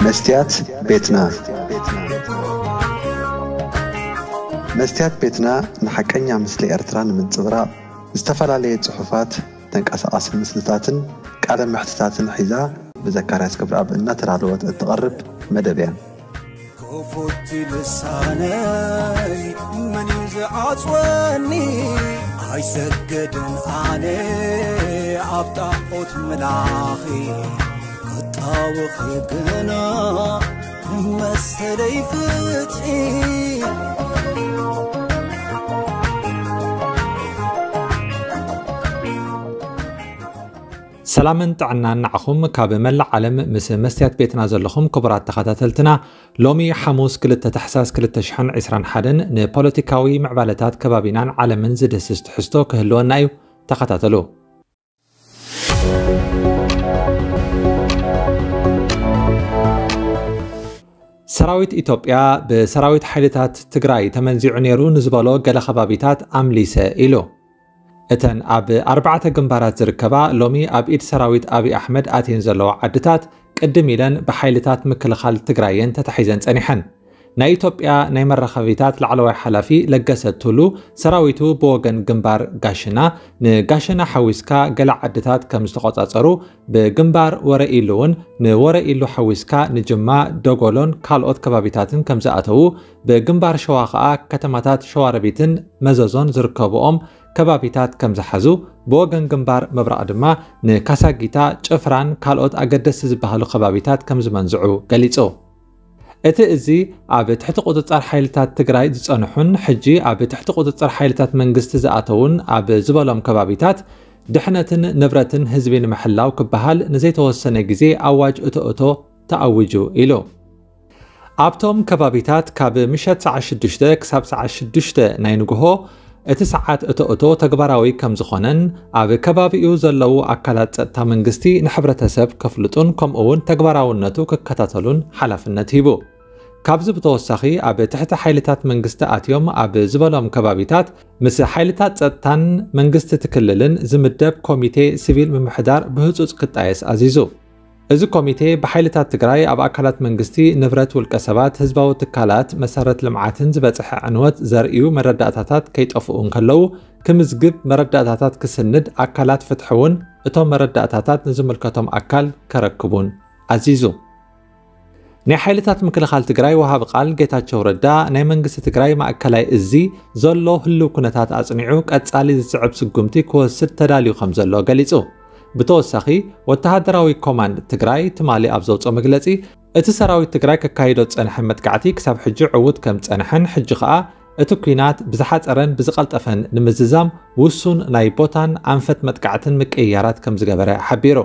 መስትያት ቤትና። መስትያት ቤትና ንሓቀኛ ምስሊ ኤርትራ ንምንጽብራቕ ዝተፈላለየ ጽሑፋት፣ ተንቀሳቓሲ ምስልታትን ቃለ መሕትታትን ሒዛ ብዘካርያስ ገብረኣብ እናተዳለወት እትቐርብ መደብ እያ። ክፉት ልሳነይ መን እዩ ዝዓጽወኒ? ኣይሰግድን ኣነ ኣብ ጣዖት ምላኺ፣ ክጣወኺ ግና መሰለይ ፍትሒ። ሰላምን ጥዕናን ንዓኹም ካብ መላእ ዓለም ምስ መስትያት ቤትና ዘለኹም ክቡራት ተኸታተልትና። ሎሚ ሓሙስ ክልተ ታሕሳስ ክልተ ሽሕን ዕስራን ሓደን ንፖለቲካዊ ምዕባለታት ከባቢናን ዓለምን ዝድህስስ ትሕዝቶ ክህልወና እዩ። ተኸታተሉ። ሰራዊት ኢትዮጵያ ብሰራዊት ሓይልታት ትግራይ ተመንዚዑ ነይሩ ንዝበሎ ገለ ከባቢታት ኣምሊሰ ኢሉ። እተን ኣብ ኣርባዕተ ግንባራት ዝርከባ ሎሚ ኣብ ኢድ ሰራዊት ኣብይ ኣሕመድ ኣትየን ዘለዋ ዓድታት ቅድም ኢለን ብሓይልታት ምክልኻል ትግራይ እየን ተታሒዘን ጸኒሐን። ናይ ኢትዮጵያ ናይ መራኸቢታት ላዕለዋይ ሓላፊ ለገሰ ቱሉ ሰራዊቱ ብወገን ግንባር ጋሽና ንጋሽና ሓዊስካ ገለ ዓድታት ከም ዝተቖጻጸሩ፣ ብግንባር ወረኢሉ እውን ንወረኢሉ ሓዊስካ ንጅማ፣ ደጎሎን ካልኦት ከባቢታትን ከም ዝኣተዉ፣ ብግንባር ሸዋ ከኣ ከተማታት ሸዋሮቢትን መዘዞን ዝርከብኦም ከባቢታት ከም ዝሓዙ፣ ብወገን ግንባር ምብራቕ ድማ ንካሳጊታ፣ ጭፍራን ካልኦት ኣገደስቲ ዝበሃሉ ከባቢታት ከም ዝመንዝዑ ገሊጹ። እቲ እዚ ኣብ ትሕቲ ቁጽጽር ሓይልታት ትግራይ ዝጸንሑን ሕጂ ኣብ ትሕቲ ቁጽጽር ሓይልታት መንግስቲ ዝኣተዉን ኣብ ዝበሎም ከባቢታት ድሕነትን ንብረትን ህዝቢ ንምሕላው ክበሃል ንዘይተወሰነ ግዜ ኣዋጅ እቶ እቶ ተኣዊጁ ኢሉ። ኣብቶም ከባቢታት ካብ ምሸት ሰዓት ሽዱሽተ ክሳብ ሰዓት ሽዱሽተ ናይ ንግሆ እቲ ሰዓት እቶ እቶ ተግባራዊ ከም ዝኾነን ኣብ ከባቢኡ ዘለዉ ኣካላት ጸጥታ መንግስቲ ንሕብረተሰብ ከፍልጡን ከምኡ እውን ተግባራውነቱ ክከታተሉን ሓላፍነት ሂቡ። ካብዚ ብተወሳኺ ኣብ ትሕቲ ሓይልታት መንግስቲ ኣትዮም ኣብ ዝበሎም ከባቢታት ምስ ሓይልታት ጸጥታን መንግስቲ እቲ ክልልን ዝምደብ ኮሚቴ ሲቪል ምምሕዳር ብህጹጽ ክጣየስ ኣዚዙ። እዚ ኮሚቴ ብሓይልታት ትግራይ ኣብ ኣካላት መንግስቲ፣ ንብረት ውልቀ ሰባት፣ ህዝባዊ ትካላት፣ መሰረት ልምዓትን ዝበጽሐ ዕንወት ዘርእዩ መረዳእታታት ከይጠፍኡ እንከለዉ ክምዝግብ፣ መረዳእታታት ክስንድ፣ ኣካላት ፍትሒ እውን እቶም መረዳእታታት ንዝምልከቶም ኣካል ከረክቡን ኣዚዙ። ናይ ሓይልታት ምክልኻል ትግራይ ወሃቢ ቃል ጌታቸው ረዳ ናይ መንግስቲ ትግራይ ማእከላይ እዚ ዘሎ ህልው ኩነታት ኣጽኒዑ ቀጻሊ ዝስዕብ ስጉምቲ ክወስድ ተዳልዩ ከም ዘሎ ገሊጹ። ብተወሳኺ ወተሃደራዊ ኮማንድ ትግራይ ትማሊ ኣብ ዘውፅኦ መግለፂ እቲ ሰራዊት ትግራይ ከካይዶ ዝፀንሐ መጥቃዕቲ ክሳብ ሕጂ ዕዉት ከም ዝፀንሐን ሕጂ ኸኣ እቲ ኲናት ብዝሓፀረን ብዝቐልጠፈን ንምዝዛም ውሱን ናይ ቦታን ኣንፈት መጥቃዕትን ምቅይያራት ከም ዝገበረ ሓቢሩ።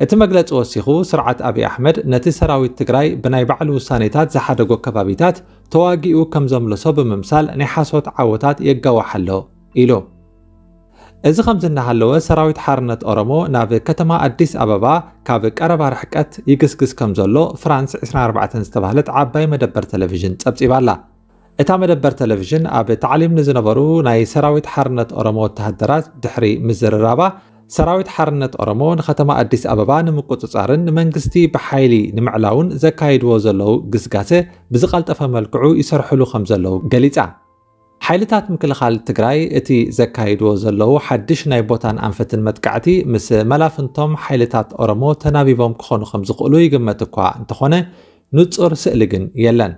እቲ መግለጺ ወሲኹ፣ ስርዓት ኣብይ ኣሕመድ ነቲ ሰራዊት ትግራይ ብናይ ባዕሉ ውሳኔታት ዝሓደጎ ከባቢታት ተዋጊኡ ከም ዘምለሶ ብምምሳል ናይ ሓሶት ዓወታት የጋውሕ ኣሎ ኢሉ። እዚ ከምዚ እናሃለወ፣ ሰራዊት ሓርነት ኦሮሞ ናብ ከተማ ኣዲስ ኣበባ ካብ ቀረባ ርሕቀት ይግስግስ ከም ዘሎ ፍራንስ ዕስራን ኣርባዕተን ዝተባህለት ዓባይ መደበር ቴሌቪዥን ጸብጺባ ኣላ። እታ መደበር ቴሌቪዥን ኣብ ታዕሊም ንዝነበሩ ናይ ሰራዊት ሓርነት ኦሮሞ ወተሃደራት ድሕሪ ምዝርራባ፣ ሰራዊት ሓርነት ኦሮሞ ንከተማ ኣዲስ ኣበባ ንምቁጽጻርን ንመንግስቲ ብሓይሊ ንምዕላውን ዘካይድዎ ዘለዉ ግስጋሰ ብዝቐልጠፈ መልክዑ ይሰርሕሉ ከም ዘለዉ ገሊጻ። ሓይልታት ምክልኻል ትግራይ እቲ ዘካይድዎ ዘለዉ ሓድሽ ናይ ቦታን ኣንፈትን መጥቃዕቲ ምስ መላፍንቶም ሓይልታት ኦሮሞ ተናቢቦም ክኾኑ ከም ዝኽእሉ ይግመት እኳ እንተኾነ፣ ንጹር ስእሊ ግን የለን።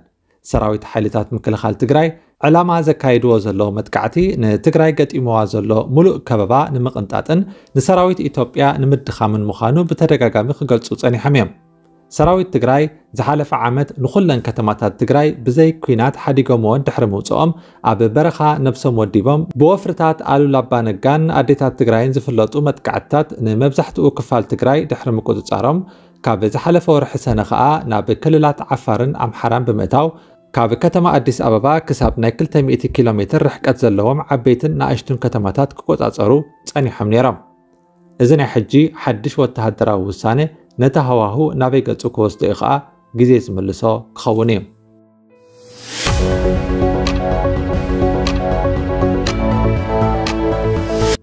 ሰራዊት ሓይልታት ምክልኻል ትግራይ ዕላማ ዘካይድዎ ዘለዉ መጥቃዕቲ ንትግራይ ገጢምዋ ዘሎ ሙሉእ ከበባ ንምቕንጣጥን ንሰራዊት ኢትዮጵያ ንምድኻምን ምዃኑ ብተደጋጋሚ ክገልጹ ጸኒሖም እዮም። ሰራዊት ትግራይ ዝሓለፈ ዓመት ንኹለን ከተማታት ትግራይ ብዘይ ኲናት ሓዲጎምወን ድሕሪ ምውጽኦም፣ ኣብ በረኻ ነብሶም ወዲቦም ብወፍርታት ኣሉላ ኣባ ነጋን ኣዴታት ትግራይን ዝፍለጡ መጥቃዕትታት ንመብዛሕትኡ ክፋል ትግራይ ድሕሪ ምቁጽጻሮም፣ ካብ ዝሓለፈ ወርሒ ሰነ ኸኣ ናብ ክልላት ዓፋርን ኣምሓራን ብምእታው፣ ካብ ከተማ ኣዲስ ኣበባ ክሳብ ናይ ክልተ ሚእቲ ኪሎ ሜትር ርሕቀት ዘለዎም ዓበይትን ንኣሽቱን ከተማታት ክቆጻጸሩ ጸኒሖም ነይሮም። እዚ ናይ ሕጂ ሓድሽ ወተሃደራዊ ውሳነ ነቲ ሃዋሁ ናበይ ገጹ ክወስዶ እዩ ኸኣ ግዜ ዝምልሶ ክኸውን እዩ።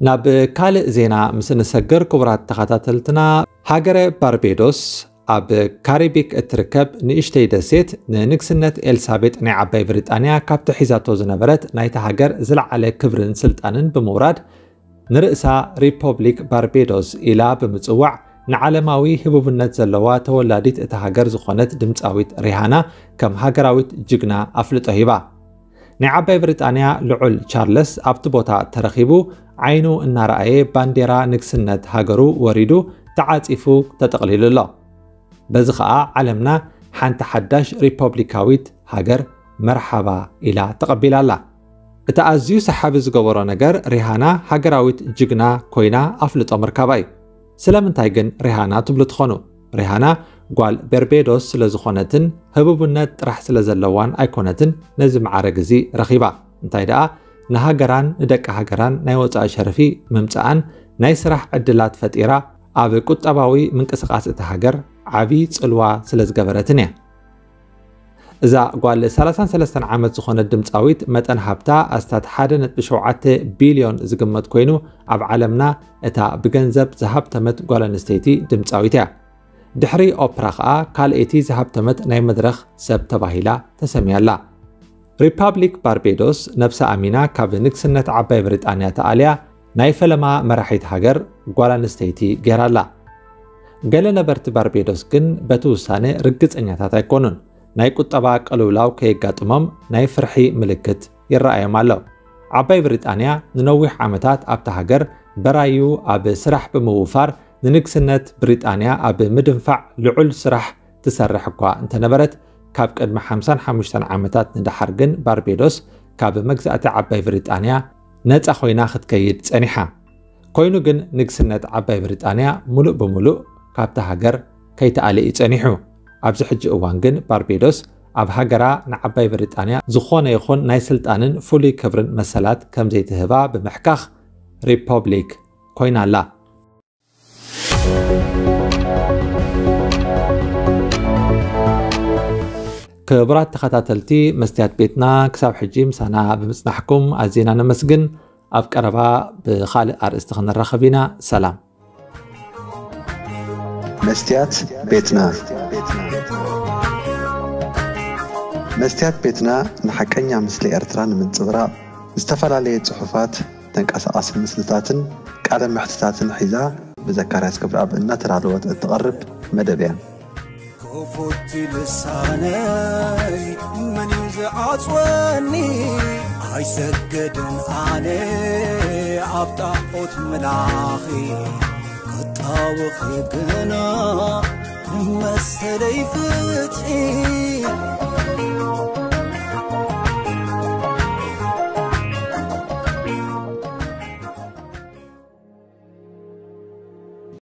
ናብ ካልእ ዜና ምስ እንሰግር፣ ክቡራት ተኸታተልትና፣ ሃገረ ባርቤዶስ ኣብ ካሪቢክ እትርከብ ንእሽተይ ደሴት ንንግስነት ኤልሳቤጥ ናይ ዓባይ ብሪጣንያ ካብቲ ሒዛቶ ዝነበረት ናይታ ሃገር ዝለዓለ ክብርን ስልጣንን ብምውራድ፣ ንርእሳ ሪፖብሊክ ባርቤዶስ ኢላ ብምጽዋዕ፣ ንዓለማዊ ህቡብነት ዘለዋ ተወላዲት እታ ሃገር ዝኾነት ድምጻዊት ሪሃና ከም ሃገራዊት ጅግና ኣፍልጦ ሂባ። ናይ ዓባይ ብሪጣንያ ልዑል ቻርለስ ኣብቲ ቦታ ተረኺቡ ዓይኑ እናረኣየ ባንዴራ ንግስነት ሃገሩ ወሪዱ ተዓጺፉ ተጠቕሊሉ ኣሎ። በዚ ኸኣ ዓለምና ሓንቲ ሓዳሽ ሪፖብሊካዊት ሃገር መርሓባ ኢላ ተቐቢላ ኣላ። እቲ ኣዝዩ ሰሓቢ ዝገበሮ ነገር ሪሃና ሃገራዊት ጅግና ኮይና ኣፍልጦ ምርካባ እዩ። ስለምንታይ ግን ሪሃና ትብሉ ትኾኑ? ሪሃና ጓል በርቤዶስ ስለ ዝኾነትን ህቡብነት ጥራሕ ስለ ዘለዋን ኣይኮነትን ነዚ መዓረግ እዚ ረኺባ። እንታይ ደኣ ንሃገራን ንደቂ ሃገራን ናይ ወጻኢ ሸርፊ ምምጽኣን ናይ ስራሕ ዕድላት ፈጢራ ኣብ ቁጠባዊ ምንቅስቓስ እታ ሃገር ዓቢ ጽልዋ ስለ ዝገበረትን እያ። እዛ ጓል ሰላሳን ሰለስተን ዓመት ዝኾነት ድምጻዊት መጠን ሃብታ ኣስታት ሓደ ነጥቢ ሸውዓተ ቢልዮን ዝግመት ኮይኑ ኣብ ዓለምና እታ ብገንዘብ ዝሃብተመት ጓል ኣንስተይቲ ድምጻዊት እያ። ድሕሪ ኦፕራ ኸኣ ካልኣይቲ ዝሃብተመት ናይ መድረኽ ሰብ ተባሂላ ተሰምያ ኣላ። ሪፓብሊክ ባርቤዶስ ነብሳ ኣሚና ካብ ንግስነት ዓባይ ብሪጣንያ ተኣልያ ናይ ፈለማ መራሒት ሃገር ጓል ኣንስተይቲ ገይራ ኣላ። ገለ ነበርቲ ባርቤዶስ ግን በቲ ውሳነ ርግጸኛታት ኣይኮኑን። ናይ ቁጠባ ቅልውላው ከየጋጥሞም ናይ ፍርሒ ምልክት ይረኣዮም ኣሎ። ዓባይ ብሪጣንያ ንነዊሕ ዓመታት ኣብታ ሃገር በራዩ ኣብ ስራሕ ብምውፋር ንንግስነት ብሪጣንያ ኣብ ምድንፋዕ ልዑል ስራሕ ትሰርሕ እኳ እንተነበረት፣ ካብ ቅድሚ ሓምሳን ሓሙሽተን ዓመታት ንደሓር ግን ባርቤዶስ ካብ መግዛእቲ ዓባይ ብሪጣንያ ነጻ ኮይና ክትከይድ ጸኒሓ። ኮይኑ ግን ንግስነት ዓባይ ብሪጣንያ ሙሉእ ብሙሉእ ካብታ ሃገር ከይተኣለ እዩ ጸኒሑ። ኣብዚ ሕጂ እዋን ግን ባርቤዶስ ኣብ ሃገራ ንዓባይ ብሪጣንያ ዝኾነ ይኹን ናይ ስልጣንን ፍሉይ ክብርን መሰላት ከም ዘይትህባ ብምሕካኽ ሪፖብሊክ ኮይና ኣላ። ክቡራት ተኸታተልቲ መስትያት ቤትና፣ ክሳብ ሕጂ ምሳና ብምጽናሕኩም ኣዝና ነመስግን። ኣብ ቀረባ ብኻልእ ኣርእስቲ ክንራኸብ ኢና። ሰላም። መስትያት ቤትና። መስትያት ቤትና ንሓቀኛ ምስሊ ኤርትራ ንምንጽብራቕ ዝተፈላለየ ጽሑፋት፣ ተንቀሳቓሲ ምስልታትን ቃለ መሕትታትን ሒዛ ብዘካርያስ ገብረኣብ እናተዳለወት እትቐርብ መደብ እያ። ክፉት ልሳነይ መን እዩ ዝዓጽወኒ? ኣይሰግድን ኣነ ኣብ ጣዖት ምላኺ ክጣወኺ ግና መሰለይ ፍትሒ